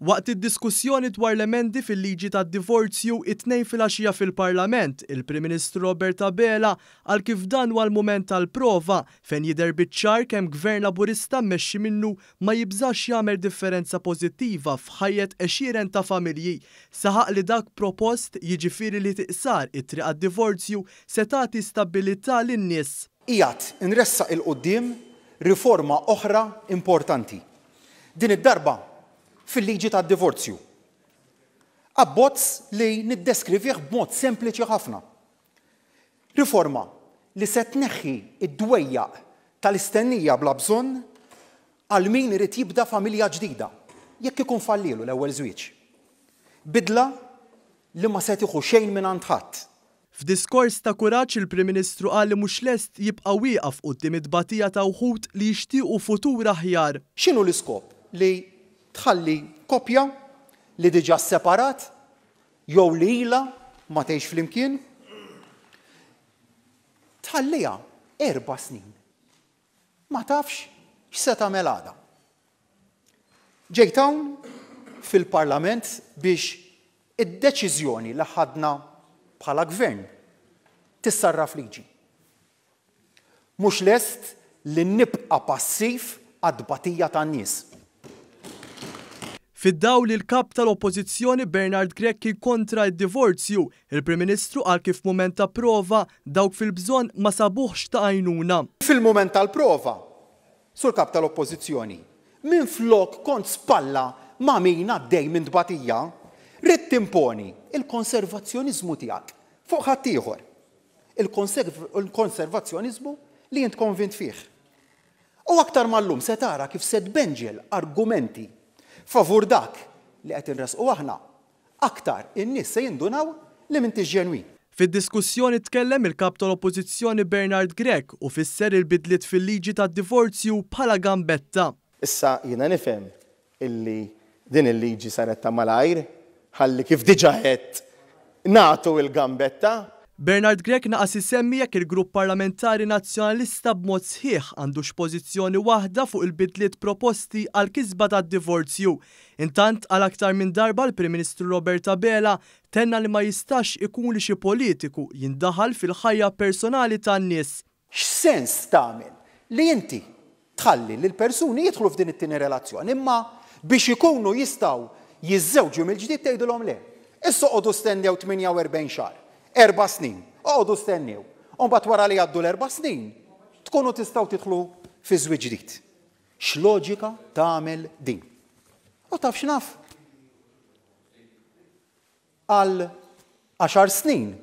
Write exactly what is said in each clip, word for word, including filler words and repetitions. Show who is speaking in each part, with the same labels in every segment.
Speaker 1: Waqt id-diskussjoni dwar l-emendi fil-liġi tad-divorzju it-Tnejn filgħaxija fil-Parlament, il-Prim Ministru Robert Abela qal kif dan huwa l-mument tal-prova fejn jidher biċ-ċar kemm Gvern Laburista mmexxi minnu ma jibżax jagħmel differenza pożittiva f'ħajjet għexieren ta' familji. Saħaq li dak propost, jiġifieri li tiqsar it-triq għad-divorzju, se tagħti stabbilità lin-nies.
Speaker 2: Qiegħed inressaq 'il quddiem riforma oħra importanti. Din id-darba fil-liġi tad-divorzju. Abbozz li niddeskrivih b'mod sempliċi ħafna. Riforma li se tneħħi id-dwejjaq tal-istennija bla bżonn għal min irid jibda familja ġdida, jekk ikun fallielu l-ewwel żwieġ. Bidla li ma se tieħu xejn minn għand ħadd.
Speaker 1: F'diskors ta' kuraġġ, il-Prim Ministru qal li mhux lest jibqa' wieqaf quddiem it-tbatija ta' wħud li jixtiequ futur aħjar.
Speaker 2: X'inhu l-iskop li tħalli koppja li diġà separat jew li ilha ma tgħix flimkien, tħalliha erba' snin ma tafx x'se tagħmel għada? Ġejt hawn fil-Parlament biex id-deċiżjoni li ħadna bħala gvern tissarraf liġi. Mhux lest li nibqa' passiv għat-tbatija tan-nies.
Speaker 1: Fid-dawl li l-kap tal-Oppożizzjoni Bernard Grech kien kontra d-divorzju, il-Prim Ministru qal kif mument ta' prova dawk fil-bżonn ma sabuħx ta' għajnuna.
Speaker 2: Fil-mument tal-prova, sur kap tal-Oppożizzjoni, minn flok kont spalla ma' min għaddej minn tbatija, ridt timponi il-konservazzjoniżmu tiegħek fuq ħaddieħor. Il-konservazzjoniżmu li int konvint fih. U aktar mal-lum se tara kif se tbenġel argumenti favur dak li qed inresqu aħna, aktar in-nies se jindunaw li m'intix ġenwin.
Speaker 1: Fid-diskussjoni tkellem il-kap tal-Oppożizzjoni Bernard Grech u fisser il-bidliet fil-liġi tad-divorzju bħala gambetta.
Speaker 3: Issa jiena nifhem illi din il-liġi saret ta' malajr, ħalli kif diġà qed nagħtu il-gambetta.
Speaker 1: Bernard Grech naqas isemmi jekk il-grupp parlamentari nazzjonalista b'mod sħiħ għandux pożizzjoni waħda fuq il-bidliet proposti għal kisba tad-divorzju. Intant, għal aktar minn darba l-Prim Ministru Robert Abela tenna li ma jistax ikun li xi politiku jindaħal fil-ħajja personali tan-nies.
Speaker 2: X'sens tagħmel li inti tħalli lil persuni jidħlu f'din it-tieni relazzjoni, imma biex ikunu jistgħu jiżżewġu mill-ġdid tgħidulhom le? Issa oqogħdu stennew tmienja u erbgħin xahar, erba' snin, oqogħdu stennew. U mbagħad wara li jgħaddu l-erba' snin, tkunu tistgħu tidħlu fi żwieġ ġdid. X'loġika tagħmel din? U taf x'naf? Għal għaxar snin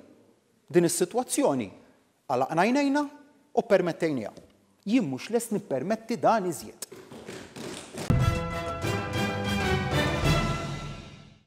Speaker 2: din is-sitwazzjoni għalaqna għajnejna u permettejniha. Jien mhux lest nippermetti dan iżjed.